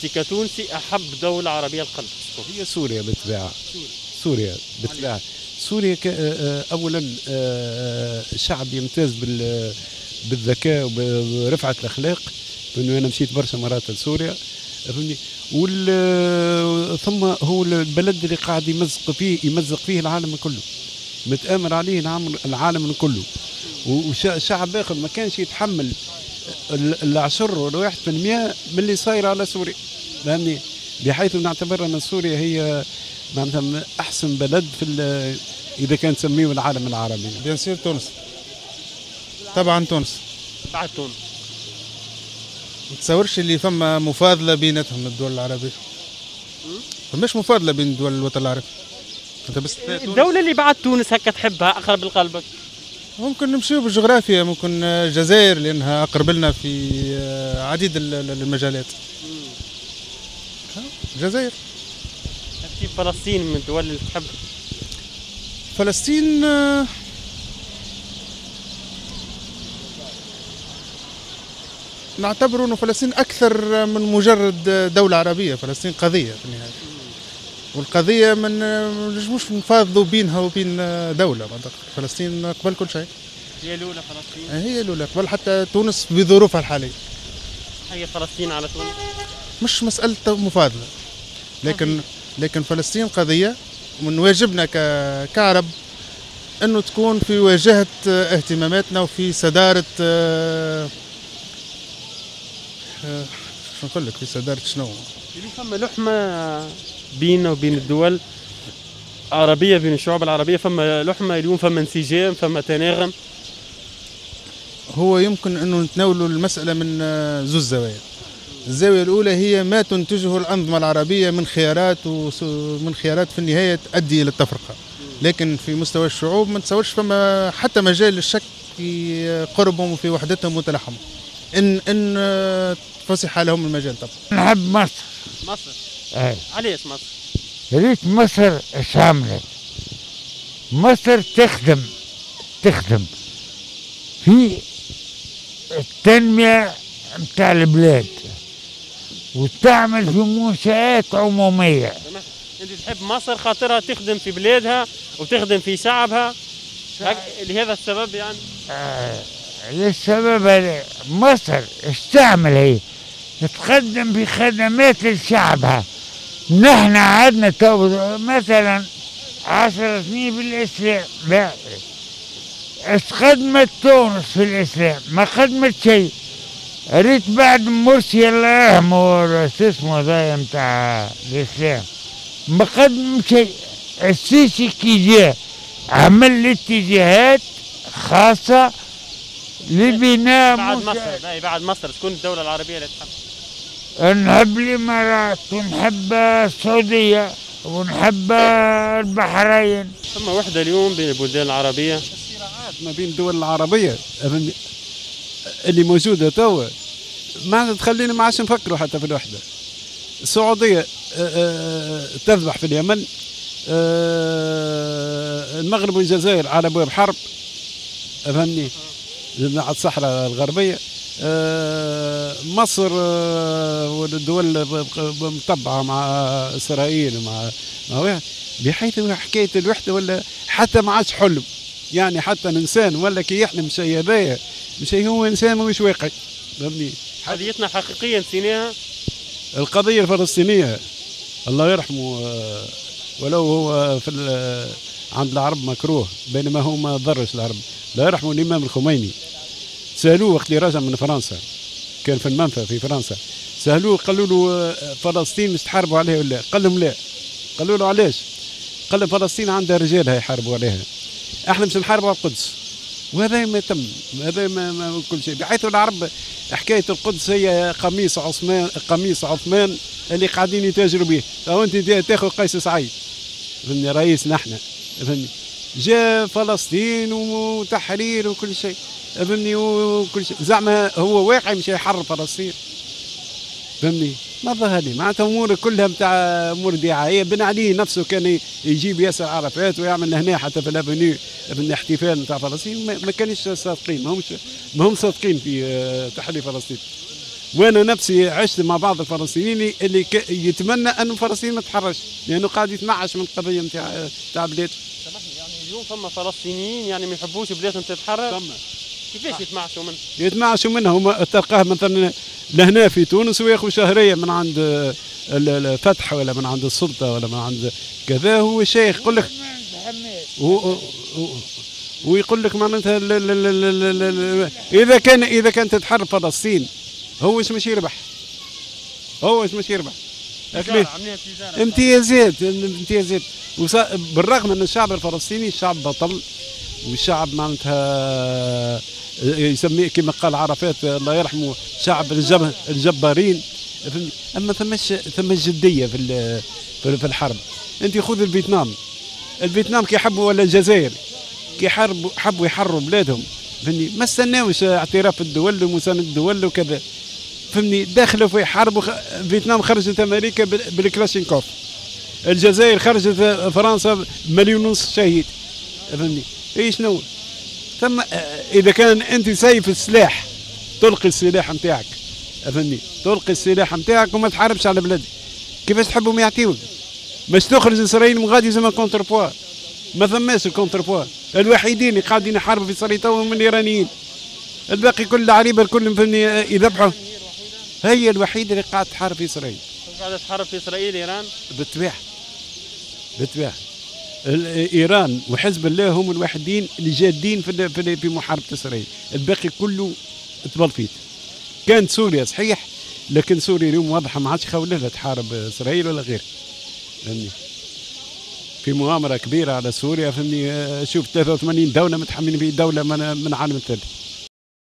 انت كتونسي احب دولة عربية لقلبك؟ هي سوريا بالطبيعة. سوريا بالطبيعة. سوريا اولا شعب يمتاز بالذكاء وبرفعه الاخلاق، لانه انا مشيت برشا مرات لسوريا، فهمني. ثم هو البلد اللي قاعد يمزق فيه العالم كله، متآمر عليه العالم كله، وشعب اخر ما كانش يتحمل العشر ولا 1% من اللي صاير على سوريا، فهمني. بحيث نعتبر ان سوريا هي معناتها احسن بلد في اذا كان تسميه العالم العربي. bien sûr تونس، طبعا تونس. بعد تونس ما تصورش اللي فما مفاضله بيناتهم الدول العربية. فماش مفاضله بين دول الوطن العربي. انت بس الدولة اللي بعد تونس هكا تحبها اقرب لقلبك؟ ممكن نمشيو بالجغرافيا، ممكن الجزائر لانها اقرب لنا في عديد المجالات. الجزائر. ترتيب فلسطين من الدول اللي تحب؟ فلسطين نعتبر أن فلسطين أكثر من مجرد دولة عربية، فلسطين قضية في النهاية، والقضية ما نجموش نفاضلوا بينها وبين دولة. فلسطين قبل كل شيء. هي الأولى فلسطين؟ هي الأولى قبل حتى تونس بظروفها الحالية. هي فلسطين على تونس؟ مش مسألة مفاضلة، لكن فلسطين قضية، ومن واجبنا كعرب أنه تكون في واجهة اهتماماتنا وفي صدارة، شو نقول لك، في صدارة شنو؟ فما لحمة بيننا وبين الدول العربية، بين الشعوب العربية، فما لحمة اليوم، فما انسجام، فما تناغم. هو يمكن أنه نتناولوا المسألة من زوج زوايا. الزاوية الأولى هي ما تنتجه الأنظمة العربية من خيارات، ومن خيارات في النهاية تؤدي إلى التفرقة. لكن في مستوى الشعوب ما نتصورش فما حتى مجال للشك في قربهم وفي وحدتهم وتلاحمهم، إن فسح لهم المجال. طبعا نحب مصر. مصر؟ اي. علاش مصر؟ ريت مصر اش عملت؟ مصر تخدم في التنمية نتاع البلاد وتعمل في منشآت عمومية. انت تحب مصر خاطرها تخدم في بلادها وتخدم في شعبها، لهذا السبب يعني؟ للسبب هذا مصر اش تعمل؟ هي تقدم بخدمات لشعبها. نحن عندنا تو مثلا 10 سنين بالاسلام، لا اش خدمت تونس في الاسلام؟ ما خدمت شيء. ريت بعد مرسي الله يرحمه، شو اسمه هذايا نتاع الاسلام، ما قدم شيء. السيسي كي جا عمل اتجاهات خاصة لبناء. بعد مصر، بعد مصر شكون الدولة العربية اللي تحب؟ نحب الإمارات ونحب السعودية ونحب البحرين. ثم وحدة اليوم بين البلدان العربية؟ الصراعات ما بين الدول العربية اللي موجودة توا ما تخلينا ما عادش نفكروا حتى في الوحدة. السعودية تذبح في اليمن، المغرب والجزائر على ابواب حرب، فهمني، على الصحراء الغربية. مصر والدول مطبعة مع اسرائيل ومع بحيث حكاية الوحدة ولا حتى ما عادش حلم، يعني حتى الانسان ولا كي يحلم شيء هذايا مش هو انسان مش واقعي، فهمني. قضيتنا حقيقية نسيناها، القضية الفلسطينية الله يرحمه، ولو هو في عند العرب مكروه، بينما هو ما ضرش العرب. الله يرحمه الامام الخميني، سالوه وقت اللي رجع من فرنسا، كان في المنفى في فرنسا، سالوه قالوا له فلسطين مش تحاربوا عليها ولا؟ قال لهم لا. قالوا له علاش؟ قال لهم فلسطين عندها رجالها يحاربوا عليها، احنا مش نحاربوا على القدس. وهذا ما تم، هذا ما كل شيء، بحيث العرب حكاية القدس هي قميص عثمان، قميص عثمان اللي قاعدين يتاجروا به. تو انت تاخذ قيس سعيد، فهمني، رئيس نحن، فهمني، جاء فلسطين وتحرير وكل شيء، فهمني، وكل شيء، زعما هو واقعي مش يحرر فلسطين، فهمني، ما ظهر لي معناتها امور كلها نتاع امور دعائيه. بن علي نفسه كان يجيب ياسر عرفات ويعمل هنا حتى في l'avenue من احتفال نتاع فلسطين، ما كانش صادقين، ما هم صادقين في تحرير فلسطين. وانا نفسي عشت مع بعض الفلسطينيين اللي يتمنى ان فلسطين ما تتحرش، لانه قاعد يتمعش من القضية نتاع بلاده. سامحني، يعني اليوم فما فلسطينيين يعني ما يحبوش بلادهم تتحرر؟ فما. كيفاش يتمعشوا منها؟ يتمعشوا منها، هما تلقاه مثلا لهنا في تونس وياخذ شهرية من عند الفتح ولا من عند السلطة ولا من عند كذا، هو شيخ يقول لك ويقول لك معناتها اذا كان تتحرر فلسطين هو ايش مش يربح؟ هو ايش مش يربح؟ امتيازات امتيازات. بالرغم ان الشعب الفلسطيني شعب بطل، والشعب معناتها يسميه كما قال عرفات الله يرحمه شعب الجبارين، اما ثماش جدية في الحرب. انت خذ الفيتنام، الفيتنام كي حبوا ولا الجزائر كي حبوا يحرروا بلادهم، فهمني، ما استناوش اعتراف الدول ومساندة الدول وكذا، فهمني، دخلوا في حرب. فيتنام خرجت امريكا بالكلاشينكوف، الجزائر خرجت فرنسا 1.5 مليون شهيد، فهمني. اي شنو ثم اذا كان انت سيف السلاح تلقي السلاح نتاعك، فهمني، تلقي السلاح نتاعك وما تحاربش على بلادك، كيفاش تحبهم يعطيوك؟ باش تخرج اسرائيل من غادي زعما contrepoids، ما ثماش ال contrepoids. الوحيدين اللي قاعدين يحاربوا في اسرائيل تو هم الايرانيين، الباقي كل العريبه الكل فهمني يذبحوا. هي الوحيدة اللي قاعدة تحارب في اسرائيل. قاعدة تحارب في اسرائيل ايران؟ بالطبيعة بالطبيعة. ايران وحزب الله هم الوحيدين اللي جادين في محاربة اسرائيل، الباقي كله تبلفيت. كانت سوريا صحيح، لكن سوريا اليوم واضحة ما عادش خولها تحارب اسرائيل ولا غير، فهمني. في مؤامرة كبيرة على سوريا، فهمني. شوف 83 دولة متحملين في دولة من العالم الثالث.